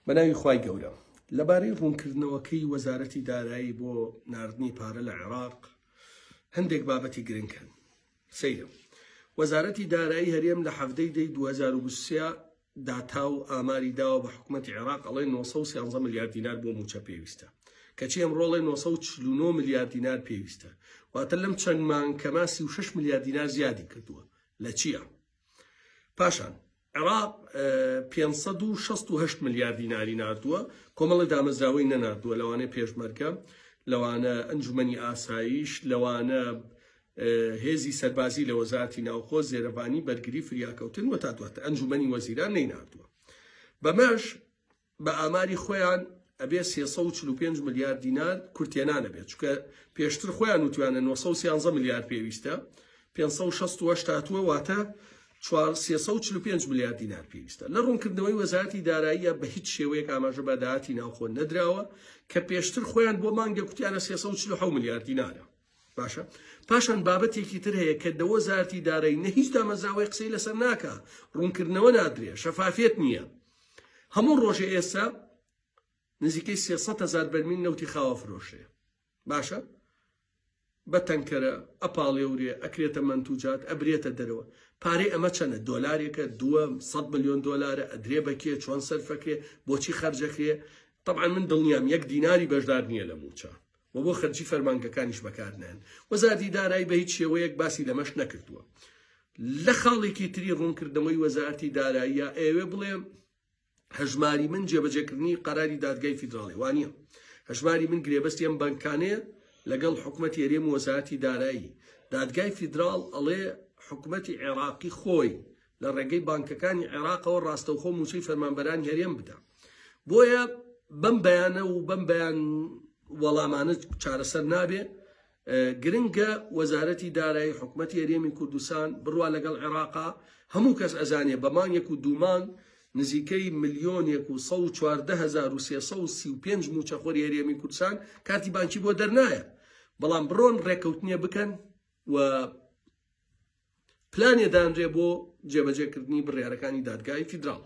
بەناوی خوای گەورە. لەبارەی ڕوونکردنەوەکەی وەزارەتی دارایی بۆ ناردنی پارە لە عێراق هەندێک بابەتی گرنگ هەن. سەیرە. وەزارەتی دارایی هەرێم لە حەڤدەی دەی 2023 داتا و ئاماری داوە بە حکومەتی عێراق ئەڵێ 913 ملیار دینار بۆ مووچە پێویستە. کەچی ئەمڕۆ ئەڵێ 949 ملیار دینار پێویستە. واتە لەم چەند مانگ کەما 36 ملیار دینار زیادی کردووە. لە چییە؟ پاشان عێراق 568 ملیار دیناری ناردووە، کۆمەڵی دامەزراوەی نەناردووە، لەوانەیە پێشمەرگە، لەوانە ئەنجومەنی ئاسایش، لەوانە هێزی سەربازی لە وەزارەتی ناوخۆ، زێرەڤانی، بەرگری، فریاکەوتن و تا دواتر ئەنجومەنی وەزیران نەیناردووە. بەمەش بە ئاماری خۆیان ئەبێ 345 ملیار دینار کورتێنان ئەبێت، چونکە پێشتر خۆیان وتویانە 913 ملیار پێویستە، 568 هاتووە، واتە 345 ملیار دینار پێویستە. لە ڕوونکردنەوەی وەزارەتی داراییە بە هیچ شێوەیەک ئاماژە بە داهاتی ناوخۆ نەدراوە کە پێشتر خۆیان بۆ مانگێک وتیانە 347 ملیار دینارە. باشە پاشان بابەتێکی تر هەیە کە دە وەزارەتی دارایی نە هیچ دامەزراوەی قسەی لەسەر ناکا، ڕوونکردنەوە نادرێ، شەفافیەت نییە. هەموو ڕۆژێ ئێستا نزیکەی 300 هەزار بەرمیل نەوتی خاوە فرۆشێ. باشە بە تەنکەرە ئەپاڵێورێ، ئەکرێتە مەنتوجات، ئەبرێتە دەرەوە. پارەی ئەمە چەنە؟ دۆلارێکە، دووە، 100 ملیۆن دۆلارە، ئەدرێ بە کێ، چۆن سەرفەکرێ، بۆچی خەرجەکرێ؟ طبعا من دڵنیام یەک دیناری بەشدار نییە لە مووچە و بۆ خەرجی فەرمانگەکانیش بەکارنایەن. وەزارەتی دارایی بە هیچ شێوەیەک باسی لەمەش نەکردووە. لە خاڵێکی تری ڕوونکردنەوەی وەزارەتی داراییە ئەیەوێ بڵێ هەژماری من جێبەجێکردنی قەراری دادگای فیدراڵی وانە. هەژماری من گرێبەستی ئەم بانکانەیە لەگەڵ حکومەتی هەرێم و وەزارەتی دارایی. دادگای فیدراڵ ئەڵێ حکومەتی عێراقی خۆی لە ڕێگەی بانکەکانی عێراقەوە ڕاستەوخۆ مووچەی فەرمانبەرانی هەرێم بدا. بۆیە بەم بەیانە و بەم بەیان وەڵامانە چارەسەر نابێ. گرنگە وەزارەتی دارایی حکومەتی هەرێمی کوردستان بڕوا لەگەڵ عێراقا. هەموو کەس ئەزانێ بە مانگێک و دوو مانگ نزیکەی ملیۆنێک و 114,335 مووچەخۆری هەرێمی کوردستان کارتی بانکی بۆ دەرنایە، بەڵام بڕۆن ڕێککەوتنیە بکەن و پلانێ دانرێ بۆ جێبەجێکردنی بڕیارەکانی دادگای فیدراڵ.